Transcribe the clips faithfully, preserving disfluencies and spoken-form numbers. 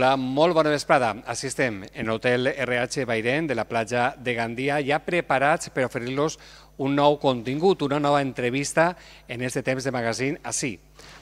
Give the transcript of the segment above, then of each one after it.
Hola, molt bona vesprada. Així estem en l'hotel R H Bairén de la platja de Gandia, ja preparats per oferir-los un nou contingut, una nova entrevista en este temps de magazín, així,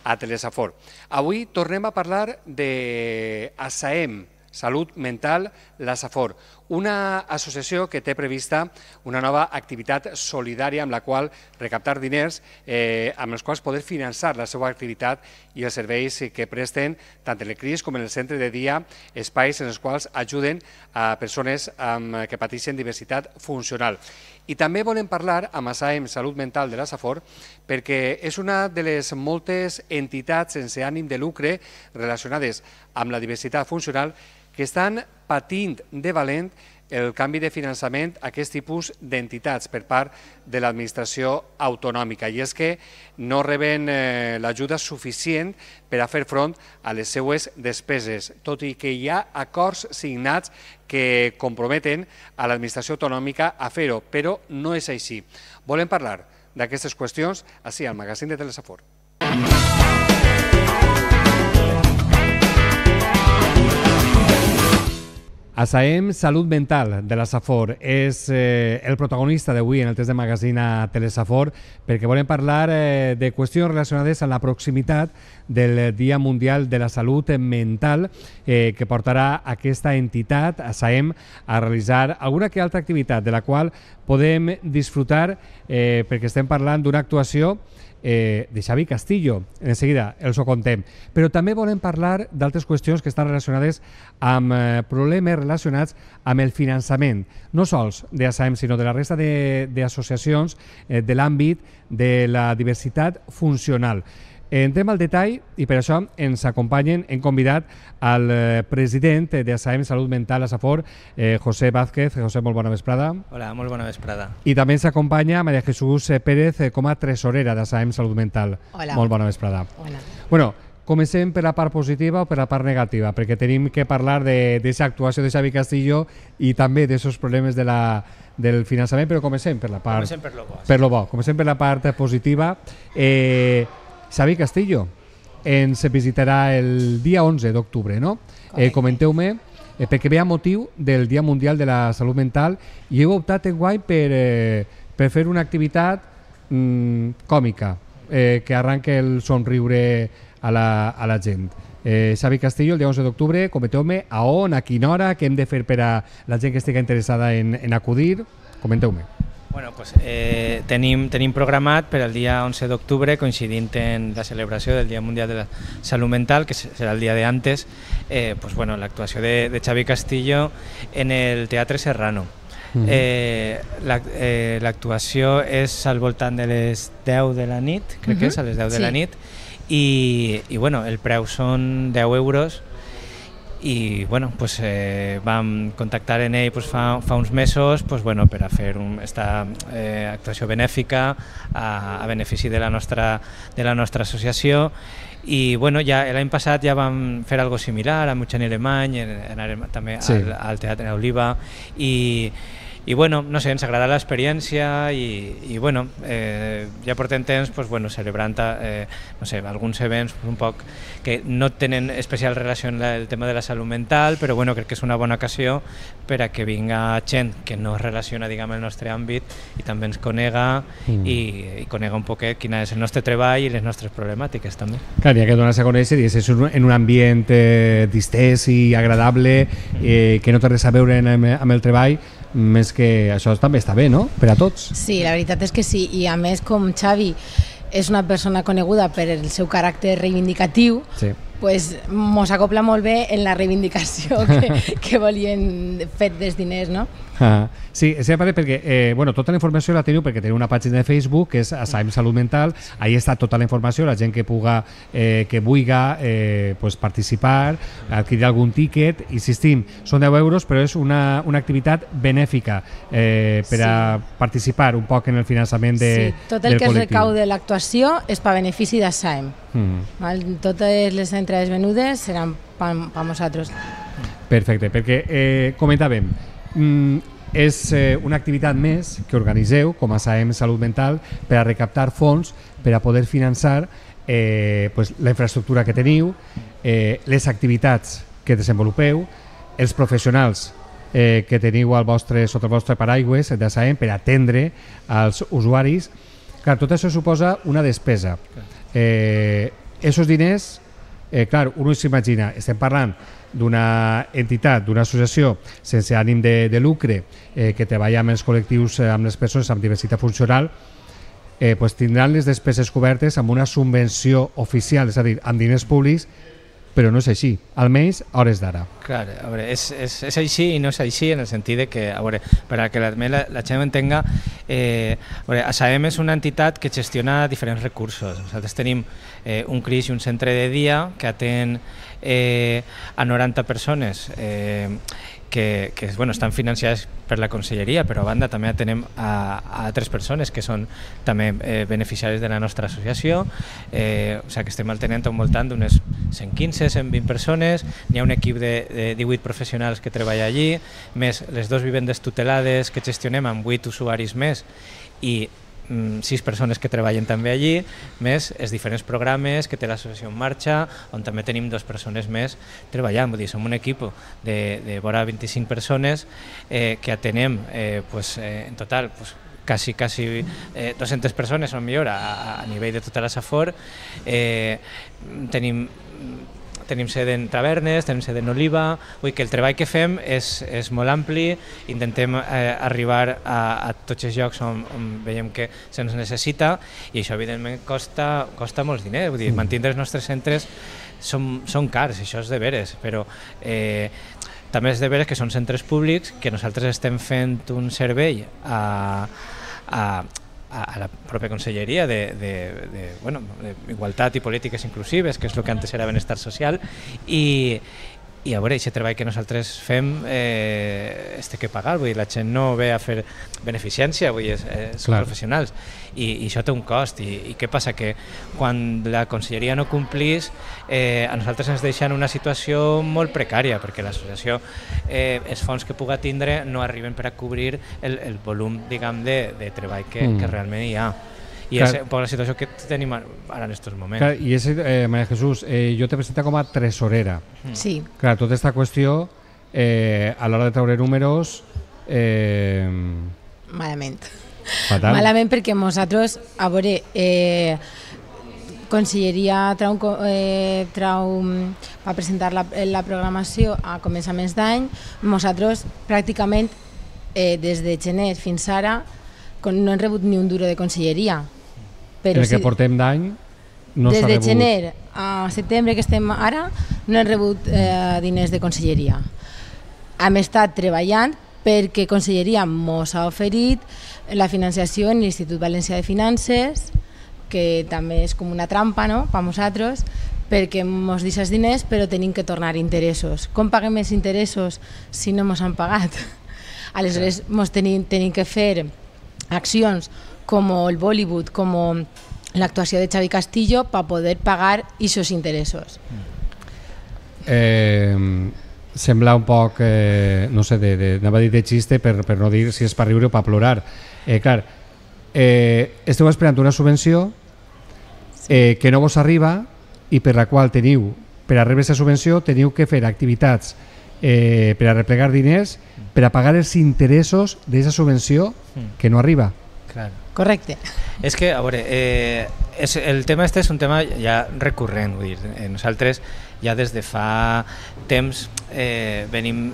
a Telesafor. Avui tornem a parlar de ASAEM, Salut Mental, la Safor, una associació que té prevista una nova activitat solidària amb la qual recaptar diners eh, amb els quals poder finançar la seva activitat i els serveis que presten tant en el C R I S com en el centre de dia, espais en els quals ajuden a persones amb, que pateixen diversitat funcional. I també volem parlar amb ASAEM Salut Mental de la Safor perquè és una de les moltes entitats sense ànim de lucre relacionades amb la diversitat funcional que estan patint de valent el canvi de finançament a aquest tipus d'entitats per part de l'administració autonòmica. I és que no reben eh, l'ajuda suficient per a fer front a les seues despeses, tot i que hi ha acords signats que comprometen a l'administració autonòmica a fer-ho, però no és així. Volem parlar d'aquestes qüestions així al magazín de Telesafor. ASAEM Salut Mental de la Safor és eh, el protagonista d'avui en el test de magazín a Telesafor perquè volem parlar eh, de qüestions relacionades amb la proximitat del Dia Mundial de la Salut Mental eh, que portarà aquesta entitat, ASAEM, a realitzar alguna que altra activitat de la qual podem disfrutar eh, perquè estem parlant d'una actuació Eh, de Xavi Castillo, en seguida els ho contem, però també volem parlar d'altres qüestions que estan relacionades amb eh, problemes relacionats amb el finançament, no sols d'ASAEM sinó de la resta d'associacions eh, de l'àmbit de la diversitat funcional. Entrem al detall i per això ens acompanyen, hem convidat al president d'ASAEM Salut Mental a Safor, eh, José Vázquez. José, molt bona vesprada. Hola, molt bona vesprada. I també ens acompanya María Jesús Pérez com a tresorera d'ASAEM Salut Mental. Hola. Molt bona vesprada. Hola. Bueno, comencem per la part positiva o per la part negativa, perquè tenim que parlar d'aquesta actuació de Xavi Castillo i també d'aquests problemes de la, del finançament, però comencem per la part... Comencem per lo bo. Per lo bo. Comencem per la part positiva. Eh... Xavi Castillo ens visitarà el dia onze d'octubre, no? Eh, Comenteu-me, eh, perquè ve a motiu del Dia Mundial de la Salut Mental i heu optat enguany per, eh, per fer una activitat mm, còmica, eh, que arranque el somriure a la, a la gent. Eh, Xavi Castillo, el dia onze d'octubre, comenteu-me a on, a quina hora, què hem de fer per a la gent que estigui interessada en, en acudir. Comenteu-me. Bueno, pues, eh, tenim, tenim programat per al dia onze d'octubre, coincidint en la celebració del Dia Mundial de la Salut Mental, que serà el dia de antes, eh, pues, bueno, l'actuació de, de Xavi Castillo en el Teatre Serrano. Mm-hmm. eh, l'actuació la, eh, és al voltant de les deu de la nit, crec mm-hmm. que és a les deu de sí. la nit, i, i bueno, el preu són deu euros. I bueno, pues, eh, vam contactar en ell pues, fa, fa uns mesos pues, bueno, per a fer un, esta eh, actuació benèfica a, a benefici de la nostra, de la nostra associació i bueno, ja l'any passat ja vam fer algo similar amb Eugeni Alemany, anàrem també sí. al, al Teatre Oliva i I bueno, no sé, ens agrada l'experiència i, i bueno, eh, ja portem temps pues, bueno, celebrant eh, no sé, alguns events un poc que no tenen especial relació amb el tema de la salut mental, però bueno, crec que és una bona ocasió per a que vinga gent que no es relaciona diguem, el nostre àmbit i també ens conega mm. i, i conega un poquet quin és el nostre treball i les nostres problemàtiques també. Clar, hi ha que donar-se a conèixer i és en un ambient eh, distès i agradable eh, que no té res a veure amb, amb el treball, més que això també està bé, no? Per a tots. Sí, la veritat és que sí, i a més com Xavi és una persona coneguda per el seu caràcter reivindicatiu, sí. pues mos acopla molt bé en la reivindicació que, que volien fer dels diners, no? Ah, sí, sempre perquè eh, bueno, tota la informació la teniu perquè teniu una pàgina de Facebook que és ASAEM Salut Mental, ahí està tota la informació, la gent que puga, eh, que vulga eh, pues, participar, adquirir algun tíquet, insistim, són deu euros però és una, una activitat benèfica eh, per a sí. participar un poc en el finançament de, sí, tot el del que col·lectiu. es recau de l'actuació és per benefici d'ASAEM. Mm. Totes les entrades venudes seran per a nosaltres. Perfecte, perquè eh, comentàvem, Mm, és eh, una activitat més que organiseu com a ASAEM Salut Mental per a recaptar fons per a poder finançar eh, pues, la infraestructura que teniu, eh, les activitats que desenvolupeu, els professionals eh, que teniu al vostre, sota el vostre paraigües de S A E M per atendre als usuaris. Clar, tot això suposa una despesa. Eh, esos diners, eh, clar, un s'imagina, estem parlant d'una entitat, d'una associació sense ànim de, de lucre eh, que treballa amb els col·lectius, eh, amb les persones amb diversitat funcional, eh, pues tindran les despeses cobertes amb una subvenció oficial, és a dir, amb diners públics, però no és així, almenys a hores d'ara. Clar, a veure, és, és, és així i no és així en el sentit de que, a veure, per a que la, la, la gent entenga, eh, a veure, S A E M és una entitat que gestiona diferents recursos. Nosaltres tenim eh, un C R I S i un centre de dia que atén eh, a noranta persones eh, que, que bueno, estan financiades per la conselleria, però a banda també atenem a, a altres persones que són també eh, beneficiaris de la nostra associació, eh, o sigui que estem atenent al voltant d'unes cent quinze a cent vint persones, n'hi ha un equip de, de divuit professionals que treballa allí, més les dues vivendes tutelades que gestionem amb vuit usuaris més i sis persones que treballen també allí, més els diferents programes que té l'associació en marxa, on també tenim dues persones més treballant. Vull dir, som un equip de, de vora vint-i-cinc persones eh, que atenem eh, pues, eh, en total pues, quasi, quasi eh, dues-centes persones o millor a, a nivell de tota la Safor. Eh, tenim Tenim sede en tavernes, tenim sede en Oliva, vull que el treball que fem és, és molt ampli, intentem eh, arribar a, a tots els llocs on, on veiem que se'ns necessita i això evidentment costa, costa molts diners, vull dir, mantenir els nostres centres són, són cars, això és de veres, però eh, també és de veres que són centres públics, que nosaltres estem fent un servei a, a a la pròpia conselleria de, de, de, bueno, de igualtat i polítiques inclusives, que és el que antes era benestar social, i, i a veure, aquest treball que nosaltres fem eh, es té que pagar, vull dir, la gent no ve a fer beneficència, vull dir, és, són professionals, i, i això té un cost, i, i què passa? Que quan la conselleria no complís, eh, a nosaltres ens deixa en una situació molt precària, perquè l'associació, eh, els fons que puga tindre no arriben per a cobrir el, el volum, diguem, de, de treball que, mm. que realment hi ha. I clar, és un poc la situació que tenim ara en aquests moments. Clar, i és, eh, Maria Jesús, eh, jo te presento com a tresorera. Sí. Clar, tota aquesta qüestió, eh, a l'hora de treure números... Eh, Malament. Fatal. Malament perquè nosaltres, a veure, eh, Conselleria trau, eh, trau, va presentar la, la programació a començaments d'any, nosaltres pràcticament eh, des de gener fins ara no hem rebut ni un duro de conselleria. Però el que si, portem d'any no s'ha rebut. Des de gener a setembre que estem ara no hem rebut eh, diners de conselleria. Hem estat treballant perquè conselleria mos ha oferit la financiació en l'Institut Valencià de Finances, que també és com una trampa, no?, per nosaltres, perquè mos deixa els diners però tenim que tornar interessos. Com paguem els interessos si no mos han pagat? Aleshores mos tenim, tenim que fer accions com el Bollywood, com l'actuació de Xavi Castillo per poder pagar aquests interessos. Eh, sembla un poc, eh, no sé, de, de, anava a dir de xiste per, per no dir si és per riure o per plorar. Eh, clar, eh, esteu esperant una subvenció eh, que no vos arriba i per la qual teniu, per a rebre aquesta subvenció, teniu que fer activitats eh, per a replegar diners per a pagar els interessos d'aquesta subvenció que no arriba. Claro. Correcte. És que, a veure, eh, és, el tema este és un tema ja recurrent, vull dir, eh, nosaltres ja des de fa temps eh, venim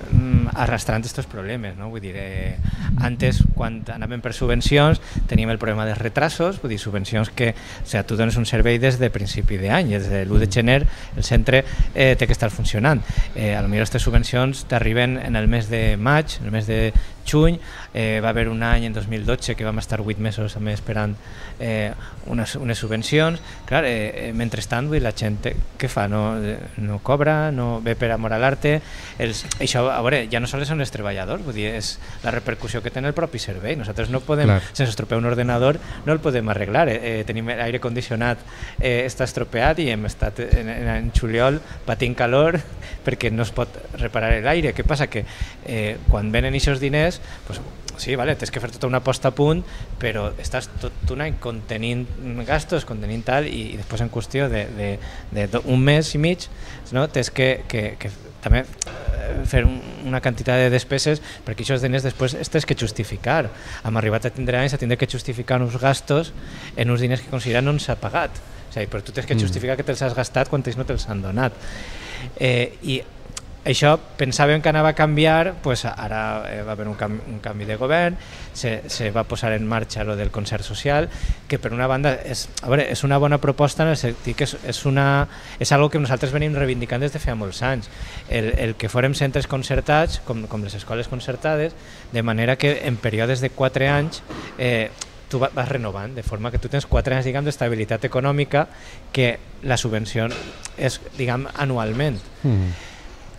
arrastrant aquests problemes, no? Vull dir, eh, antes quan anàvem per subvencions teníem el problema dels retrasos, vull dir, subvencions que, o sigui, tu dones un servei des de principi d'any, des de l'u de gener el centre eh, té que estar funcionant. Eh, a lo millor aquestes subvencions t'arriben en el mes de maig, en el mes de juny, eh, va haver un any en dos mil dotze que vam estar vuit mesos també esperant eh, unes, unes subvencions. Clar, eh, eh, mentrestant, vull dir, la gent què fa? No, no cobra, no ve per amor a l'arte. Això, a veure, ja no sols són els treballadors, vull dir, és la repercussió que té el propi servei. Nosaltres no podem, clar, sense estropeu un ordenador no el podem arreglar. Eh, eh, tenim l'aire condicionat, eh, està estropeat i hem estat en, en, en juliol patint calor perquè no es pot reparar l'aire. Què passa? Que eh, quan venen aquests diners, pues, sí, vale, tens que fer tota una posta a punt, però estàs tot un any contenint gastos, contenint tal, i, i després en qüestió d'un mes i mig, no? Tens que, que, que també fer una quantitat de despeses, perquè aquests diners després es tens que justificar. Hem arribat a tindre anys a tindre que justificar uns gastos en uns diners que consideren no s'ha pagat. O sigui, però tu tens que justificar que te'ls has gastat quan ells no te'ls han donat. Eh, I això pensàvem que anava a canviar, pues ara eh, va haver un, canvi, un canvi de govern, se, se va posar en marxa lo del concert social, que per una banda és, a veure, és una bona proposta en el sentit que és, és, una, és algo que nosaltres venim reivindicant des de fa molts anys, el, el que fórem centres concertats, com, com les escoles concertades, de manera que en períodes de quatre anys eh, tu vas renovant, de forma que tu tens quatre anys diguem, d'estabilitat econòmica, que la subvenció és diguem, anualment. Mm.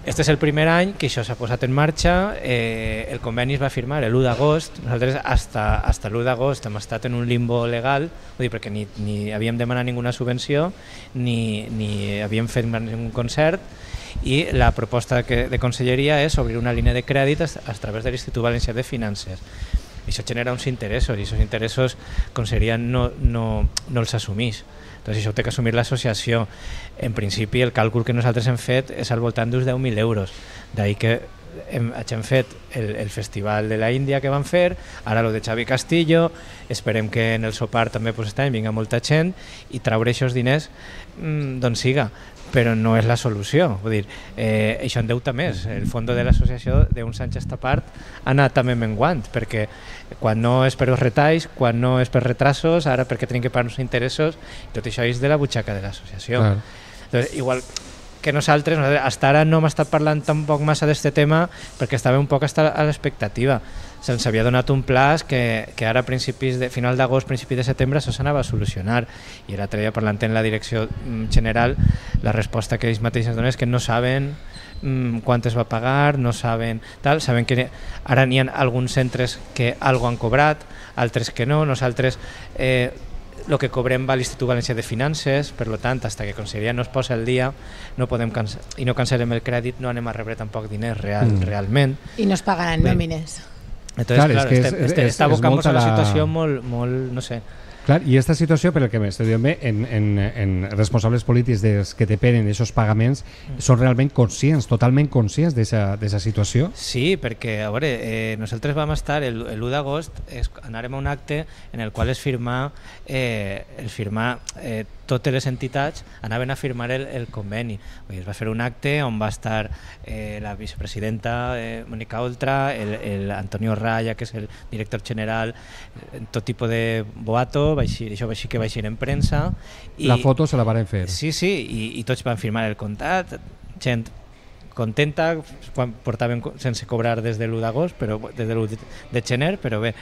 Este és el primer any que això s'ha posat en marxa, eh, el conveni es va firmar l'u d'agost, nosaltres hasta, hasta l'u d'agost hem estat en un limbo legal, vull dir, perquè ni, ni havíem demanat ninguna subvenció, ni, ni havíem fet ningú concert, i la proposta que, de conselleria és obrir una línia de crèdit a, a través de l'Institut Valencià de Finances. I això genera uns interessos, i aquests interessos conselleria no, no, no els assumeix. Doncs això ho té que assumir l'associació. En principi el càlcul que nosaltres hem fet és al voltant d'uns deu mil euros. D'ahir que hem, hem fet el, el festival de la Índia que vam fer, ara el de Xavi Castillo, esperem que en el sopar també pues, este any vinga molta gent i traure aquests diners mmm, d'on siga, però no és la solució. Vull dir, eh, això endeuta més. El fons de l'associació d'uns anys a esta part ha anat també menguant, perquè quan no és per els retalls, quan no és per retrasos, ara perquè tenim que pagar uns interessos, tot això és de la butxaca de l'associació. Claro. Entonces, igual que nosaltres, hasta ara no hem estat parlant tampoc massa d'aquest tema perquè estava un poc a l'expectativa. Se'ns havia donat un plaç que, que ara a principis de, final d'agost, principi de setembre això s'anava a solucionar, i l'altre dia parlant en la direcció general la resposta que ells mateixos donen és que no saben mm, quant es va pagar, no saben tal, saben que ara n'hi ha alguns centres que algo han cobrat, altres que no, nosaltres eh, el que cobrem va a l'Institut Valencià de Finances, per tant, fins que Conselleria no es posa al dia no podem canse- i no cancel·lem el crèdit, no anem a rebre tampoc diners real, mm. realment. I no es pagaran nòmines. Entonces, clar, clar, és que estem, està abocant-nos a una situació molt, molt, no sé. Clar, i aquesta situació, per el que m'estic dient bé, en, en, en responsables polítics dels que depenen d'aquests pagaments mm. són realment conscients, totalment conscients d'aquesta situació? Sí, perquè, a veure, eh, nosaltres vam estar l'u d'agost, anàrem a un acte en el qual es firmà, eh, es firmà eh, totes les entitats anaven a firmar el, el conveni. Vull dir, es va fer un acte on va estar eh, la vicepresidenta eh, Mónica Oltra, el, el Antonio Raya, que és el director general, tot tipus de boato, va eixir, això va eixir que va eixir en premsa. I, la foto se la van fer. Sí, sí, i, i tots van firmar el contracte, gent contenta, quan portaven sense cobrar des de l'u d'agost, però des de l'u de gener, però bé.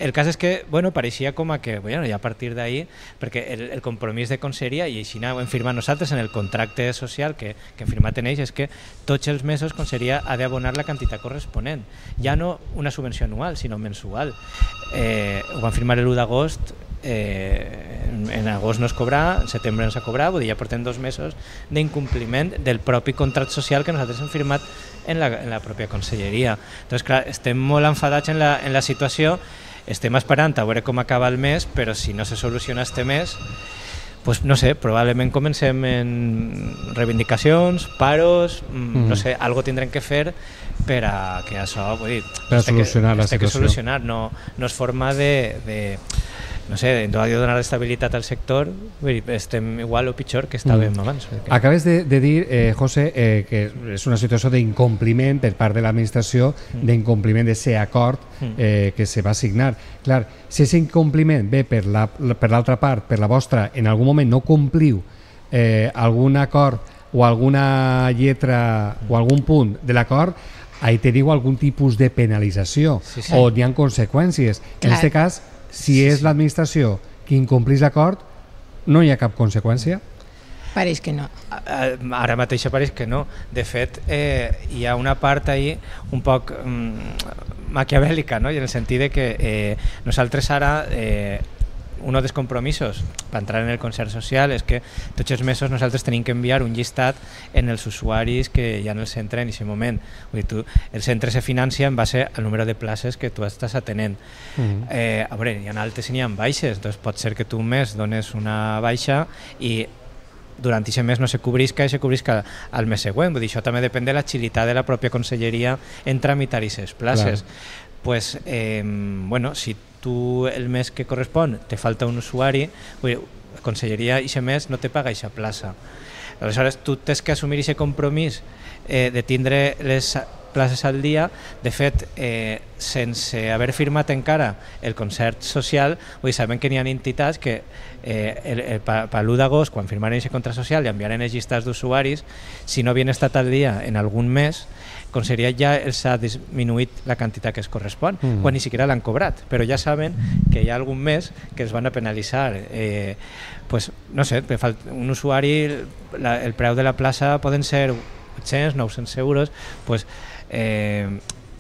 El cas és que, bueno, pareixia com a que, bueno, ja a partir d'ahir, perquè el, el compromís de conselleria, i així ho hem firmat nosaltres en el contracte social que, que hem firmat en ells, és que tots els mesos conselleria ha d'abonar la quantitat corresponent. Ja no una subvenció anual, sinó mensual. Eh, ho vam firmar l'u d'agost, eh, en agost no es cobra, en setembre no s'ha cobrat, vull dir, ja portem dos mesos d'incompliment del propi contracte social que nosaltres hem firmat en la, en la pròpia conselleria. Entonces, clar, estem molt enfadats en la, en la situació. Estem esperant a veure com acaba el mes, però si no se soluciona este mes, pues, no sé, probablement comencem en reivindicacions, paros, mm. no sé, algo tindrem que fer per a que això, vull dir, per a solucionar que, la situació. Que solucionar, no, no és forma de, de no sé, no ha de donar estabilitat al sector, vull dir, estem igual o pitjor que estàvem mm. abans. Perquè... Acabes de, de dir, eh, José, eh, que és una situació d'incompliment per part de l'administració, mm. d'incompliment d'aquest acord eh, que se va signar. Clar, si aquest incompliment ve per la, per l'altra part, per la vostra, en algun moment no compliu eh, algun acord o alguna lletra mm. o algun punt de l'acord, ahí teniu algun tipus de penalització sí, sí. o n'hi ha conseqüències. Clar. En aquest cas, si és l'administració qui incomplís l'acord, no hi ha cap conseqüència? Pareix que no. Ara mateix pareix que no. De fet, eh, hi ha una part ahí un poc mm, maquiavèlica, no? I en el sentit de que eh, nosaltres ara eh, un dels compromisos per entrar en el concert social és que tots els mesos nosaltres tenim que enviar un llistat en els usuaris que hi ha en el centre en aquest moment. Vull dir, tu, el centre se financia en base al número de places que tu estàs atenent. Mm-hmm. eh, a veure, hi ha altes i n'hi ha baixes, doncs pot ser que tu un mes dones una baixa i durant aquest mes no se cobrisca i se cobrisca al mes següent. Vull dir, això també depèn de l'agilitat de la pròpia conselleria en tramitar aquestes places. Clar. Pues, eh, bueno, si tu el mes que correspon te falta un usuari, vull dir, la conselleria aquest mes no te paga aquesta plaça. Aleshores, tu tens que assumir aquest compromís eh, de tindre les places al dia. De fet, eh, sense haver firmat encara el concert social, vull dir, sabem que n'hi ha entitats que eh, el, el, per l'u d'agost, quan firmaren aquest contracte social i enviaren els llistats d'usuaris, si no havien estat al dia en algun mes, Conselleria ja els ha disminuït la quantitat que es correspon, mm. quan ni siquiera l'han cobrat, però ja saben que hi ha algun mes que es van a penalitzar. Eh, pues, no sé, un usuari, la, el preu de la plaça poden ser vuit-cents, nou-cents euros, pues, eh,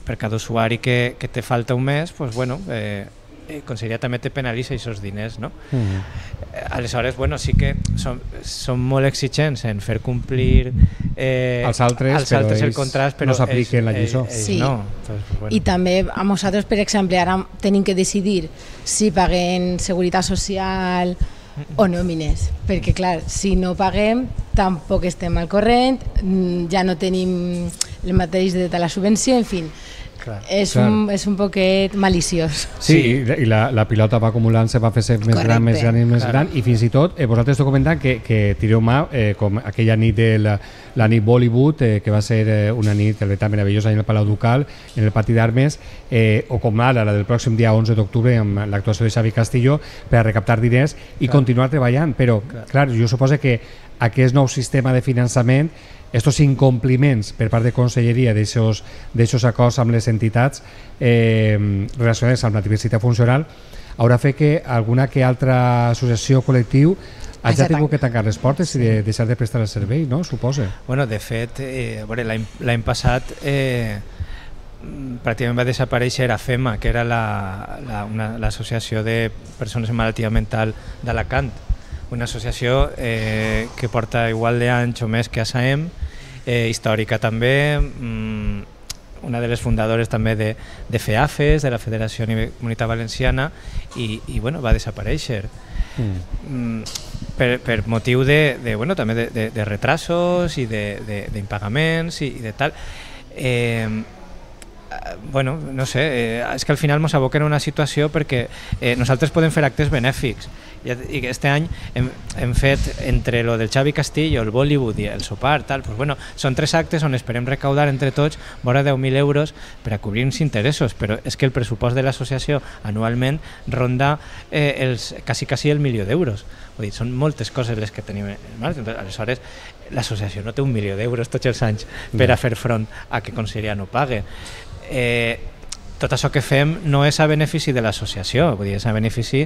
per cada usuari que, que te falta un mes, pues, bueno, eh, Conselleria també te penalitza aquests diners, no? Mm. Aleshores, bueno, sí que som, som molt exigents en fer complir eh, als altres, als altres el contrast, però no s'apliquen la lliçó. Ells, ells sí. no. Entonces, pues, bueno. I també a nosaltres, per exemple, ara tenim que decidir si paguem seguretat social o nòmines, perquè clar, si no paguem tampoc estem al corrent, ja no tenim el mateix de la subvenció, en fi. Clar, és, clar. Un, és un poquet maliciós. Sí, sí. i la, la pilota va acumulant-se, va fer-se més Correcte. gran, més gran i més clar. gran, i fins i tot eh, vosaltres esteu comentant que, que tireu mà, eh, com aquella nit de la, la nit Bollywood, eh, que va ser eh, una nit tan meravellosa en el Palau Ducal, en el Pati d'Armes, eh, o com ara la del pròxim dia onze d'octubre amb l'actuació de Xavi Castillo per a recaptar diners i clar. continuar treballant, però clar. clar, jo suposo que aquest nou sistema de finançament, estos incompliments per part de Conselleria d'aixòs acords amb les entitats eh, relacionades amb la diversitat funcional haurà fet que alguna que altra associació col·lectiu hagi tingut que tancar les portes i de deixar de prestar el servei, no? Suposa. Bueno, de fet, eh, l'any passat eh, pràcticament va desaparèixer AFEMA, que era l'associació la, de persones amb malaltia mental d'Alacant, una associació eh, que porta igual d'anys o més que A S A E M, eh, històrica també, mmm, una de les fundadores també de, de FEAFES, de la Federació Comunitat Valenciana, i, i bueno, va desaparèixer. Mm. Mm, per, per motiu de, de, bueno, també de, de, de retrasos i d'impagaments i, i de tal. Eh, bueno, no sé, eh, és que al final ens aboquen una situació perquè eh, nosaltres podem fer actes benèfics i aquest any hem, hem fet entre lo del Xavi Castillo, el Bollywood i el sopar, tal, pues bueno, són tres actes on esperem recaudar entre tots vora deu mil euros per a cobrir uns interessos, però és que el pressupost de l'associació anualment ronda eh, els, quasi, quasi el milió d'euros. Vull dir, són moltes coses les que tenim en marxa. Aleshores, l'associació no té un milió d'euros tots els anys per a fer front a que Conselleria no pague. Eh, tot això que fem no és a benefici de l'associació, vull dir, és a benefici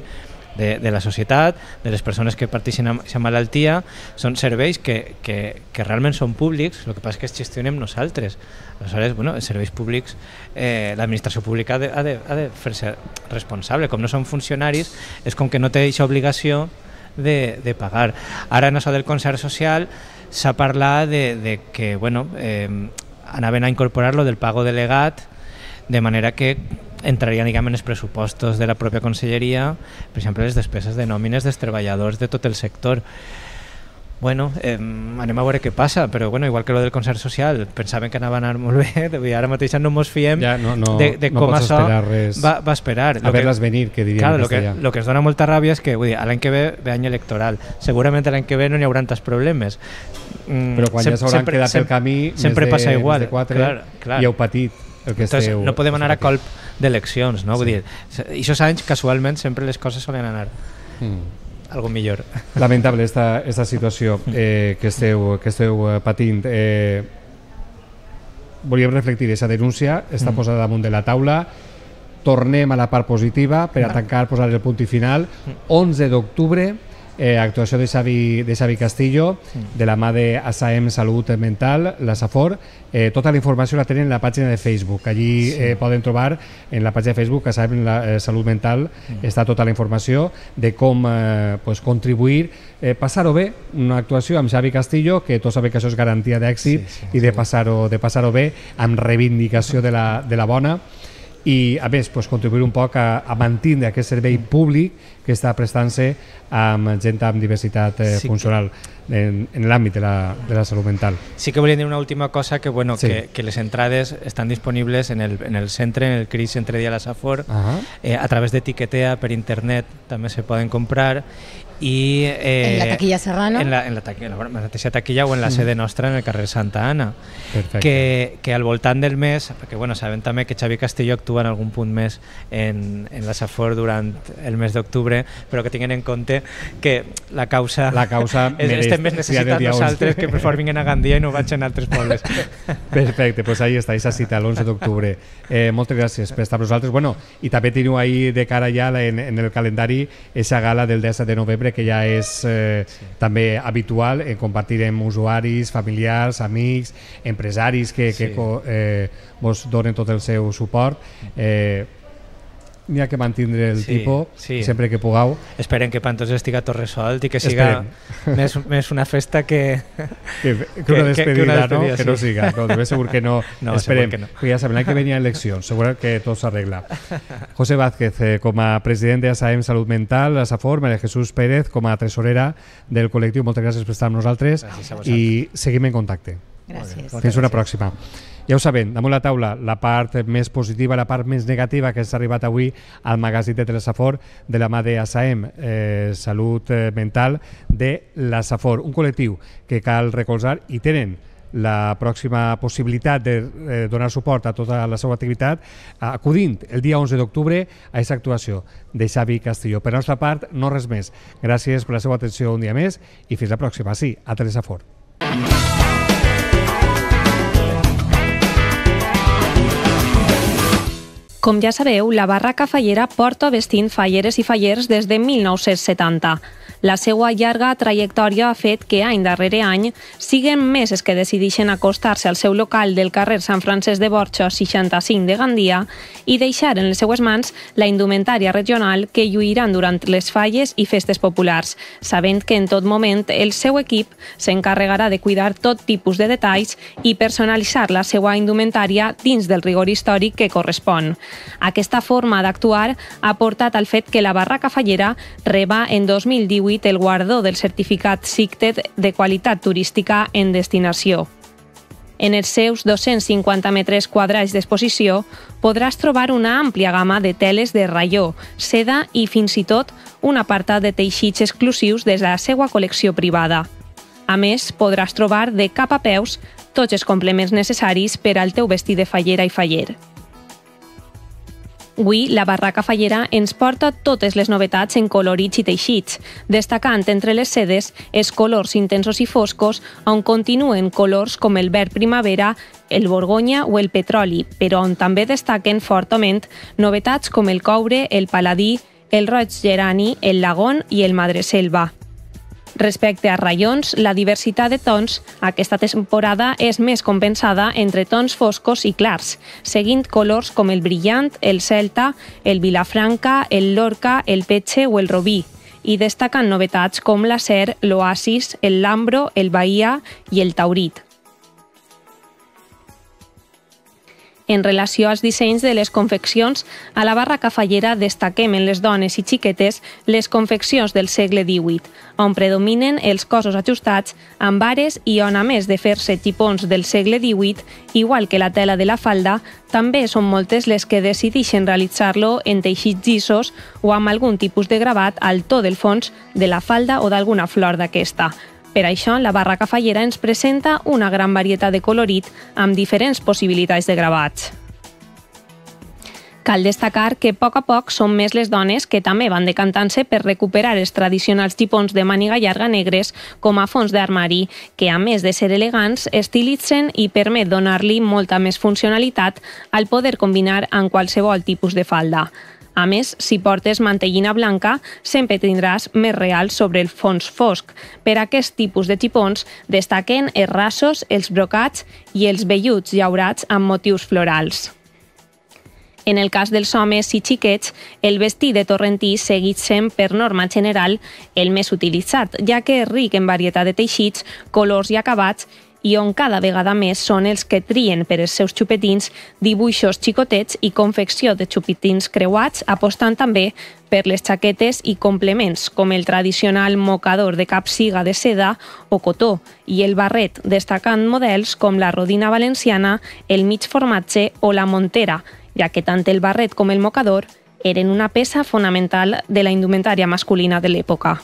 de, de la societat, de les persones que parteixen amb aquesta malaltia. Són serveis que, que, que realment són públics, el que passa és que els gestionem nosaltres. Aleshores, bueno, els serveis públics, eh, l'administració pública ha de, ha de, ha de fer-se responsable. Com no són funcionaris, és com que no té aquesta obligació de, de pagar. Ara en això del concert social s'ha parlat de, de que, bueno, eh, anaven a incorporar-lo del pago delegat, de manera que entrarien, diguem, en els pressupostos de la pròpia Conselleria, per exemple, les despeses de nòmines dels treballadors de tot el sector. Bueno, eh, anem a veure què passa, però bueno, igual que lo del concert social, pensaven que anava a anar molt bé, ara mateix no ens fiem ja, no, no, de, de no com això res, va, va esperar. A ver-les venir, que diríem claro, en castellà. Lo que, lo que es dona molta ràbia és que vull dir, l'any que ve ve any electoral, segurament l'any que ve no n'hi haurà tants problemes. Mm, però quan sem, ja s'hauran quedat pel camí sempre més, passa de, igual, més de quatre clar, clar. I heu patit el que Entonces, esteu... no podem anar a colp d'eleccions, no? Vull sí. dir, aquests anys casualment sempre les coses solen anar mm. algo millor. Lamentable esta, esta situació eh, que esteu, que esteu patint. Eh, volíem reflectir aquesta denúncia, està mm. posada damunt de la taula. Tornem a la part positiva per a tancar, posar el punt i final. onze d'octubre, eh, actuació de Xavi, de Xavi Castillo, de la mà de ASAEM Salut Mental, la SAFOR. Eh, tota la informació la tenen en la pàgina de Facebook. Allí sí. eh, poden trobar en la pàgina de Facebook ASAEM la, eh, Salut Mental, mm. està tota la informació de com eh, pues, contribuir, eh, passar-ho bé, una actuació amb Xavi Castillo, que tots sabem que això és garantia d'èxit, sí, sí, i de passar-ho de passar-ho bé, amb reivindicació de la, de la bona, i a més pues, contribuir un poc a, a mantenir aquest servei públic que està prestant-se amb gent amb diversitat eh, sí, funcional en, en l'àmbit de, la, de la salut mental. Sí que volia dir una última cosa, que, bueno, sí. que, que les entrades estan disponibles en el, en el centre, en el C R I S Centre Dia La Safor, uh -huh. eh, a través de Tiquetea, per internet també se poden comprar. I, eh, en la taquilla Serrano, en la, en la, taquilla, en la mateixa taquilla o en la mm. sede nostra en el carrer Santa Anna. Que, que al voltant del mes, perquè bueno, sabem també que Xavi Castillo actua en algun punt més en, en la Safor durant el mes d'octubre, però que tinguin en compte que la causa, la causa és, estem més necessitats nosaltres que per favor vinguin a Gandia i no vaig en altres pobles. Perfecte, doncs pues ahí està, aquesta cita l'onze d'octubre. Eh, moltes gràcies per estar amb nosaltres. Bueno, i també teniu ahí de cara ja en, en el calendari esa gala del disset de novembre, que ja és eh, sí. també habitual, en compartir amb usuaris, familiars, amics, empresaris que, sí. que eh, vos donen tot el seu suport. Eh, n'hi ha que mantindre el sí, tipus sí. sempre que pugueu. Esperem que Pantos estiga tot resolt i que siga més, més una festa que que, que una despedida, que, que, una despedida no? Sí. Que no siga, no, de ben segur que no, no esperem, que no. Perquè ja sabem, l'any que venia eleccions, segur que tot s'arregla. José Vázquez, eh, com a president de ASAEM Salut Mental, la SAFOR, María Jesús Pérez, com a tresorera del col·lectiu, moltes gràcies per estar amb nosaltres i seguim en contacte. Gràcies. Fins una pròxima. Ja ho sabem, damunt la taula, la part més positiva, la part més negativa que s'ha arribat avui al magazín de Telesafor de la mà de ASAEM, eh, Salut Mental de la Safor, un col·lectiu que cal recolzar i tenen la pròxima possibilitat de eh, donar suport a tota la seva activitat acudint el dia onze d'octubre a aquesta actuació de Xavi Castillo. Per la nostra part, no res més. Gràcies per la seva atenció un dia més i fins la pròxima, sí, a Telesafor. Com ja sabeu, la Barraca Fallera porta vestint falleres i fallers des de mil nou-cents setanta. La seva llarga trajectòria ha fet que any darrere any siguen més els que decideixen acostar-se al seu local del carrer Sant Francesc de Borja seixanta-cinc de Gandia i deixar en les seues mans la indumentària regional que lluiran durant les falles i festes populars, sabent que en tot moment el seu equip s'encarregarà de cuidar tot tipus de detalls i personalitzar la seva indumentària dins del rigor històric que correspon. Aquesta forma d'actuar ha portat al fet que la Barraca Fallera reba en dos mil divuit el guardó del certificat SICTED de qualitat turística en destinació. En els seus dos-cents cinquanta metres quadrats d'exposició podràs trobar una àmplia gamma de teles de raió, seda i fins i tot un apartat de teixits exclusius de la seva col·lecció privada. A més, podràs trobar de cap a peus tots els complements necessaris per al teu vestit de fallera i faller. Avui, la Barraca Fallera ens porta totes les novetats en colorits i teixits, destacant entre les sedes els colors intensos i foscos, on continuen colors com el verd primavera, el borgonya o el petroli, però on també destaquen fortament novetats com el coure, el paladí, el roig gerani, el lagón i el madreselva. Respecte a raions, la diversitat de tons aquesta temporada és més compensada entre tons foscos i clars, seguint colors com el brillant, el celta, el vilafranca, el lorca, el petxe o el robí, i destaquen novetats com l'acer, l'oasis, el lambro, el bahia i el taurit. En relació als dissenys de les confeccions, a la Barraca Fallera destaquem en les dones i xiquetes les confeccions del segle divuit, on predominen els cossos ajustats amb ares i on, a més de fer-se tipons del segle divuit, igual que la tela de la falda, també són moltes les que decideixen realitzar-lo en teixits llisos o amb algun tipus de gravat al to del fons de la falda o d'alguna flor d'aquesta. Per això, la Barraca Fallera ens presenta una gran varietat de colorit amb diferents possibilitats de gravats. Cal destacar que a poc a poc són més les dones que també van decantant-se per recuperar els tradicionals tipons de màniga llarga negres com a fons d'armari, que a més de ser elegants, estilitzen i permet donar-li molta més funcionalitat al poder combinar amb qualsevol tipus de falda. A més, si portes mantellina blanca, sempre tindràs més real sobre el fons fosc. Per aquest tipus de xipons destaquen els rasos, els brocats i els velluts llaurats amb motius florals. En el cas dels homes i xiquets, el vestit de torrentí segueix sent, per norma general, el més utilitzat, ja que és ric en varietat de teixits, colors i acabats, i on cada vegada més són els que trien per als seus xupetins dibuixos xicotets i confecció de xupetins creuats, apostant també per les xaquetes i complements, com el tradicional mocador de capsiga de seda o cotó, i el barret, destacant models com la rodina valenciana, el mig formatge o la montera, ja que tant el barret com el mocador eren una peça fonamental de la indumentària masculina de l'època.